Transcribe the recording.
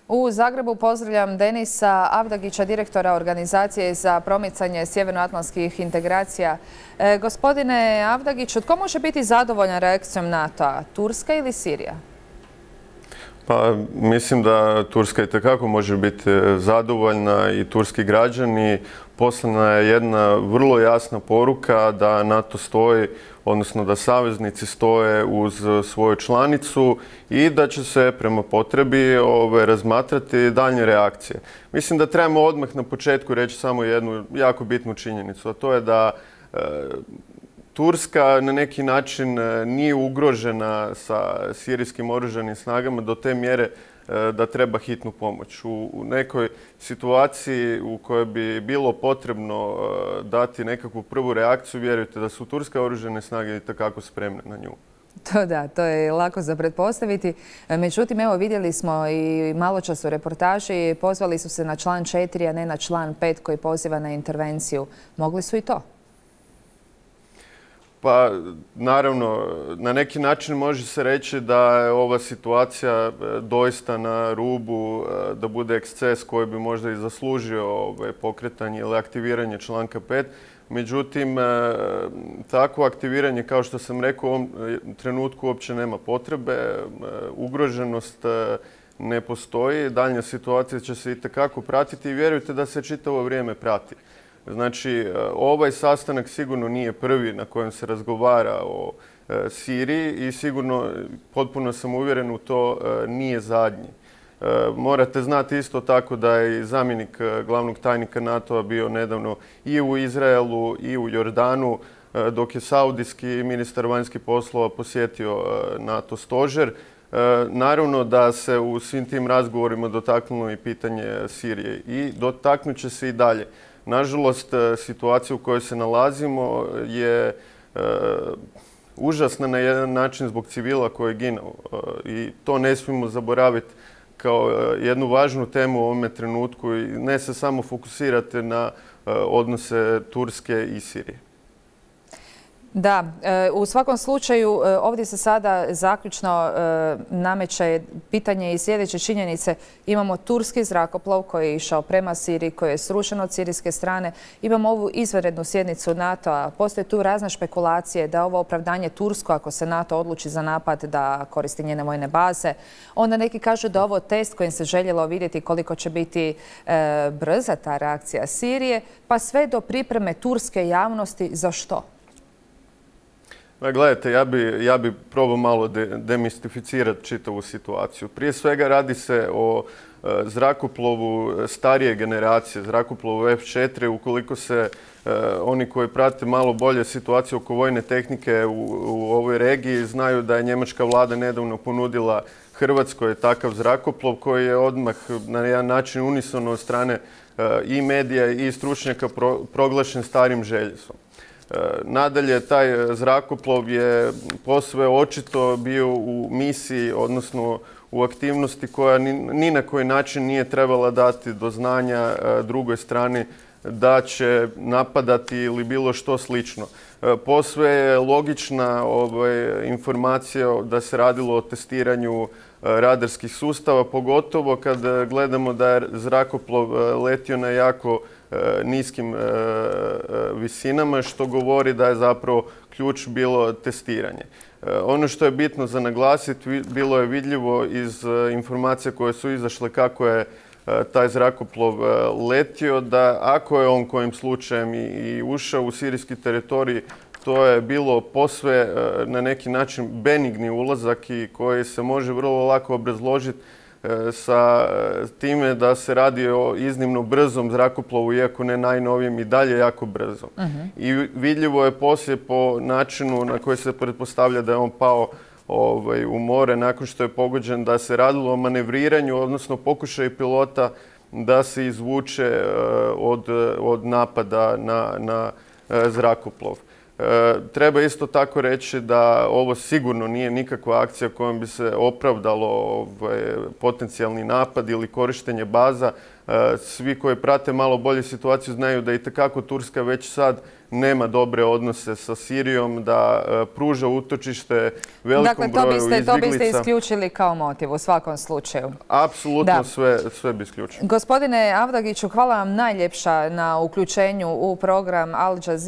U Zagrebu pozdravljam Denisa Avdagića, direktora Organizacije za promicanje sjevernoatlantskih integracija. Gospodine Avdagić, tko može biti zadovoljan reakcijom NATO-a? Turska ili Sirija? Pa mislim da Turska itekako može biti zadovoljna i turski građani. Poslana je jedna vrlo jasna poruka da NATO stoji, odnosno da saveznici stoje uz svoju članicu i da će se prema potrebi razmatrati daljnje reakcije. Mislim da trebamo odmah na početku reći samo jednu jako bitnu činjenicu, a to je da Turska na neki način nije ugrožena sa sirijskim oružanim snagama do te mjere da treba hitnu pomoć. U nekoj situaciji u kojoj bi bilo potrebno dati nekakvu prvu reakciju, vjerujte da su turske oružane snage itekako spremne na nju. To je lako za pretpostaviti. Međutim, evo vidjeli smo i maločas u reportaži, pozvali su se na član 4, a ne na član 5 koji poziva na intervenciju. Mogli su i to? Pa, naravno, na neki način može se reći da je ova situacija doista na rubu da bude eksces koji bi možda i zaslužio pokretanje ili aktiviranje članka 5. Međutim, takvo aktiviranje, kao što sam rekao, u ovom trenutku uopće nema potrebe. Ugroženost ne postoji. Daljnja situacija će se itekako pratiti i vjerujte da se čitavo vrijeme prati. Znači, ovaj sastanak sigurno nije prvi na kojem se razgovara o Siriji i sigurno, potpuno sam uvjeren u to, nije zadnji. Morate znati isto tako da je zamjenik glavnog tajnika NATO-a bio nedavno i u Izraelu i u Jordanu, dok je saudijski ministar vanjskih poslova posjetio NATO stožer. Naravno da se u svim tim razgovorima dotaknulo i pitanje Sirije i dotaknut će se i dalje. Nažalost, situacija u kojoj se nalazimo je užasna na jedan način zbog civila koji je ginuo i to ne smijemo zaboraviti kao jednu važnu temu u ovome trenutku i ne se samo fokusirati na odnose Turske i Sirije. Da, u svakom slučaju ovdje se sada zaključno nameće pitanje i sljedeće činjenice. Imamo turski zrakoplov koji je išao prema Siriji, koji je srušen od sirijske strane. Imamo ovu izvanrednu sjednicu NATO-a. Postoje tu razne špekulacije da ovo opravdanje Tursko, ako se NATO odluči za napad, da koristi njene vojne baze. Onda neki kažu da ovo test kojim se željelo vidjeti koliko će biti brza ta reakcija Sirije, pa sve do pripreme turske javnosti za što? Gledajte, ja bi probao malo demistificirati čitavu situaciju. Prije svega radi se o zrakoplovu starije generacije, zrakoplovu F-4. Ukoliko se oni koji prate malo bolje situaciju oko vojne tehnike u ovoj regiji znaju da je njemačka vlada nedavno ponudila Hrvatskoj takav zrakoplov koji je odmah na jedan način unisono od strane i medija i stručnjaka proglašen starim željesom. Nadalje, taj zrakoplov je posve očito bio u misiji, odnosno u aktivnosti koja ni na koji način nije trebala dati do znanja drugoj strani da će napadati ili bilo što slično. Posve je logična informacija da se radilo o testiranju radarskih sustava, pogotovo kad gledamo da je zrakoplov letio na jako niskim visinama, što govori da je zapravo ključ bilo testiranje. Ono što je bitno za naglasiti, bilo je vidljivo iz informacija koje su izašle kako je taj zrakoplov letio, da ako je on kojim slučajem i ušao u sirijski teritorij, to je bilo posve na neki način benigni ulazak i koji se može vrlo lako obrazložiti sa time da se radi o iznimno brzom zrakoplovu, iako ne najnovijem, i dalje jako brzo. I vidljivo je poslije po načinu na koji se pretpostavlja da je on pao u more nakon što je pogođen, da se radilo o manevriranju, odnosno pokušaju pilota da se izvuče od napada na zrakoplov. Treba isto tako reći da ovo sigurno nije nikakva akcija kojom bi se opravdalo potencijalni napad ili korištenje baza. Svi koji prate malo bolje situaciju znaju da itekako Turska već sad nema dobre odnose sa Sirijom, da pruža utočište velikom broju izbjeglica. Dakle, to biste isključili kao motiv u svakom slučaju. Apsolutno sve bi isključili. Gospodine Avdagiću, hvala vam najljepša na uključenju u program Al Jazeera.